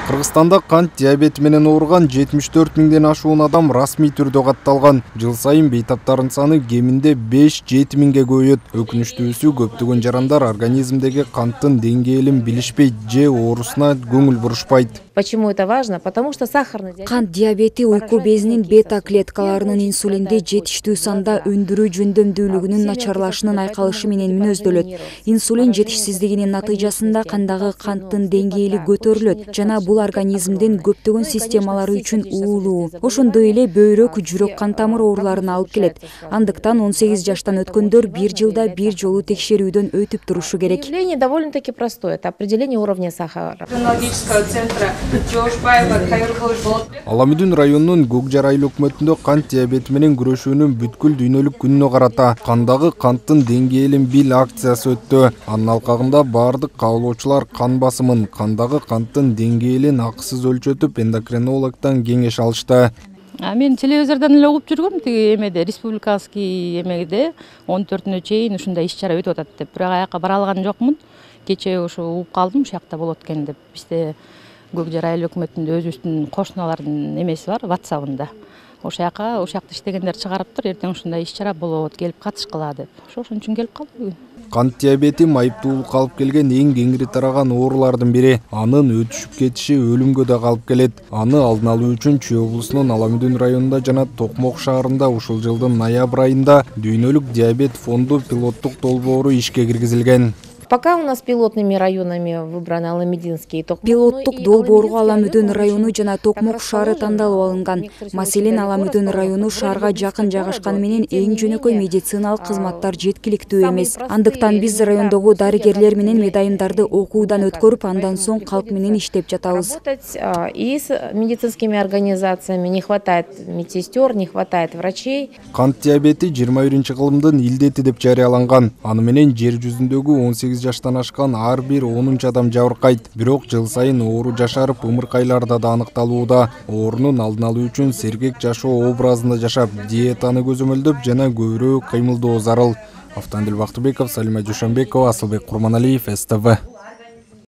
Кыргызстанда кант диабети менен ооруган 74 миңден ашуун адам расмий түрдө катталган. Жыл сайын бейтаптардын саны кеминде 5-7 миңге көбөйөт. Өкүнүчтүүсү көптөгөн жарандар организмдеги канттын деңгээлин билишпейт же оорусуна көңүл бурушпайт. Почему это важно? Потому что сахарный диабет. Кант диабети уйку безинин бета клеткаларынын инсулинди жетиштүү санда өндүрүү жөндөмдүүлүгүнүн начарлашынын айкалышы менен мүнөздөлөт. Инсулин жетишсиздигинин натыйжасында кандагы канттын деңгээли көтөрүлөт жана бул организмдин көптөгөн системалары үчүн уулуу. Ошондой эле бөйрөк, жүрөк кан тамыр ооруларына алып келет. Андыктан 18 жаштан өткөндөр бир жылда бир жолу текшерүүдөн өтүп турушу керек. Определение довольно-таки простое. Это определение уровня сахара. Аламүдүн районунун Көкжар айыл өкмөтүндө кант диабети менен күрөшүүнүн бүткүл дүйнөлүк күнүнө карата кандагы канттын деңгээлин бил акциясы өттү. Анын алкагында бардык кабылуучулар кан басымын, кандагы канттын деңгээлин акысыз өлчөтүп, эндокринологдон кеңеш алышты. Мен телевизордон эле угуп жүргөм, тиги эмеде республиканский эмеде 14-нө чейин ушундай иш-чара өтүп атат деп. Бирок аяка бара алган жокмун. Кечээ ушу угуп калдым, ушул жакта болот экен деп. Бизде Көкжар айыл өкмөтүндө өзүбүздүн кошуналардын эмеси бар, WhatsApp-ында. Ошол жакта иштегендер чыгарыптыр, эртең ушундай иш-чара болот, келип катышкыла деп. Ошон үчүн келип калдым бүгүн. Кант диабети майыптуулукка алып келген эң кеңири тараган оорулардын бири. Анын өтүшүп кетиши өлүмгө да алып келет. Аны алдын алуу үчүн Чүй облусунун Аламүдүн районунда жана Токмок шаарында ушул жылдын ноябрь айында дүйнөлүк диабет фонду пилоттук долбоору ишке киргизилген. Пока у нас пилотными районами выбраны Аламединский и Токмок. Пилоттук долбоорго Аламүдүн району жана Токмок шаары тандалып алынган. Маселен, Аламүдүн району шаарга жакын жайгашканы менен эң жөнөкөй медициналык кызматтар жеткиликтүү эмес. Андыктан биз райондогу дарыгерлер менен медайымдарды окуудан өткөрүп, андан соң калк менен иштеп жатабыз. И с медицинскими организациями не хватает медсестер, не хватает врачей. Кант диабети 21-кылымдын илдети деп жарыяланган. Аны менен жер жүзүндөгү 18 жаштан ашкан ар бир 10 адам жабыркайт. Бирок жыл сайын оору жашарып, ымыркайларда да аныкталууда. Оорунун алдын алуу үчүн сергек жашоо образында жашап, диетаны көзөмөлдөп жана көбүрөөк кыймылдоо зарыл. Автандил Бактыбеков, Салима Жушанбекова, Асылбек Курманалиев, СТВ.